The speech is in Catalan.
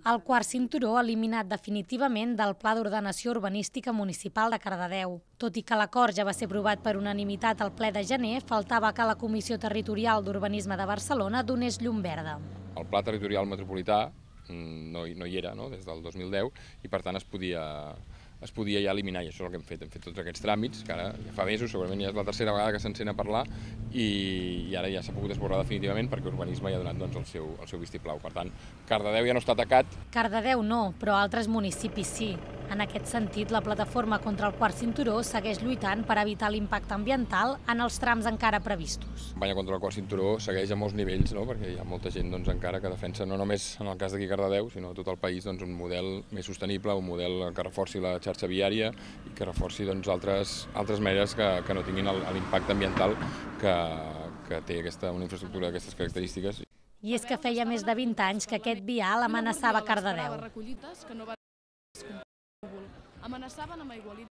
El quart cinturó eliminat definitivament del Pla d'Ordenació Urbanística Municipal de Cardedeu. Tot i que l'acord ja va ser aprovat per unanimitat al ple de gener, faltava que la Comissió Territorial d'Urbanisme de Barcelona donés llum verda. El Pla Territorial Metropolità no hi era des del 2010 i per tant es podia ja eliminar, i això és el que hem fet tots aquests tràmits, que ara ja fa mesos, segurament ja és la tercera vegada que s'encén a parlar i ara ja s'ha pogut esborrar definitivament perquè Urbanisme ja ha donat el seu vistiplau. Per tant, Cardedeu ja no està atacat. Cardedeu no, però altres municipis sí. En aquest sentit, la plataforma contra el quart cinturó segueix lluitant per evitar l'impacte ambiental en els trams encara previstos. La campanya contra el quart cinturó segueix a molts nivells, perquè hi ha molta gent encara que defensa, no només en el cas d'aquí Cardedeu, sinó a tot el país, un model més sostenible, un model que reforci la xarxa viària i que reforci altres maneres que no tinguin l'impacte ambiental que té una infraestructura d'aquestes característiques. I és que feia més de 20 anys que aquest vial amenaçava Cardedeu. Amenaçaven amb aigualides